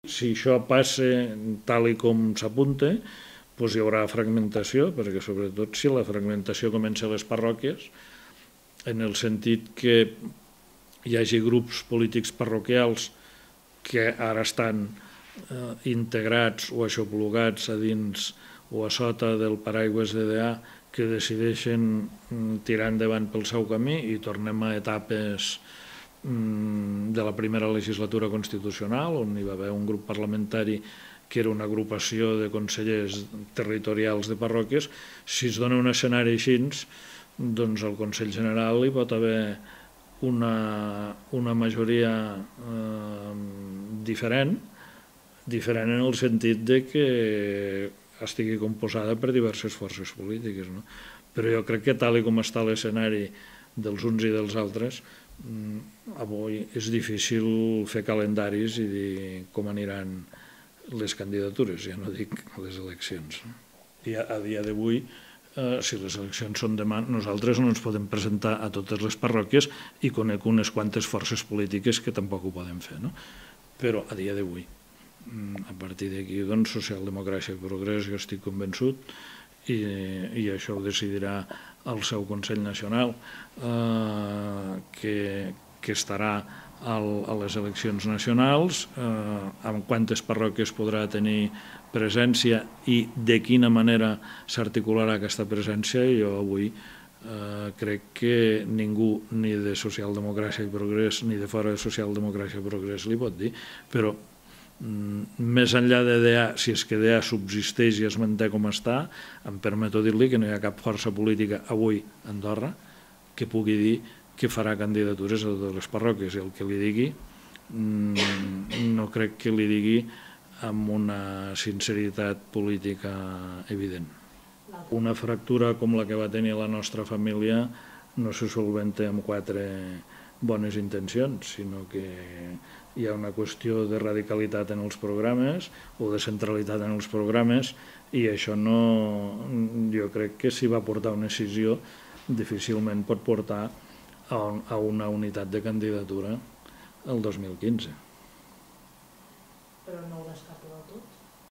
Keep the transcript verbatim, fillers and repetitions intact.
Si això passa tal i com s'apunta, doncs hi haurà fragmentació, perquè sobretot si la fragmentació comença a les parròquies, en el sentit que hi hagi grups polítics parroquials que ara estan eh, integrats o aixoplugats a dins o a sota del paraigües de D A, que decideixen tirar endavant pel seu camí i tornem a etapes de la primera legislatura constitucional, on hi va haver un grup parlamentari que era una agrupació de consellers territorials de parròquies. Si es dona un escenari així, doncs al Consell General hi pot haver una, una majoria eh, diferent, diferent en el sentit de que estigui composada per diverses forces polítiques. No? Però jo crec que tal com està l'escenari dels uns i dels altres, avui és difícil fer calendaris i dir com aniran les candidatures, ja no dic les eleccions. I a dia d'avui, si les eleccions són demà, nosaltres no ens podem presentar a totes les parròquies i conec unes quantes forces polítiques que tampoc ho poden fer, no? Però a dia d'avui, a partir d'aquí, doncs, Socialdemocràcia i Progrés, jo estic convençut, i, i això ho decidirà el seu Consell Nacional, eh, que, que estarà al, a les eleccions nacionals, eh, amb quantes parròquies podrà tenir presència i de quina manera s'articularà aquesta presència. Jo avui eh, crec que ningú, ni de Socialdemocràcia i Progrés, ni de fora de Socialdemocràcia i Progrés li pot dir, però més enllà de D A, si és que D A subsisteix i es manté com està, em permeto dir-li que no hi ha cap força política avui a Andorra que pugui dir que farà candidatures a totes les parròquies, i el que li digui no crec que li digui amb una sinceritat política evident. Una fractura com la que va tenir la nostra família no se solventa amb quatre bones intencions, sinó que hi ha una qüestió de radicalitat en els programes o de centralitat en els programes, i això no, jo crec que si va portar una decisió difícilment pot portar a una unitat de candidatura el dos mil quinze. Però no ho descarto del tot?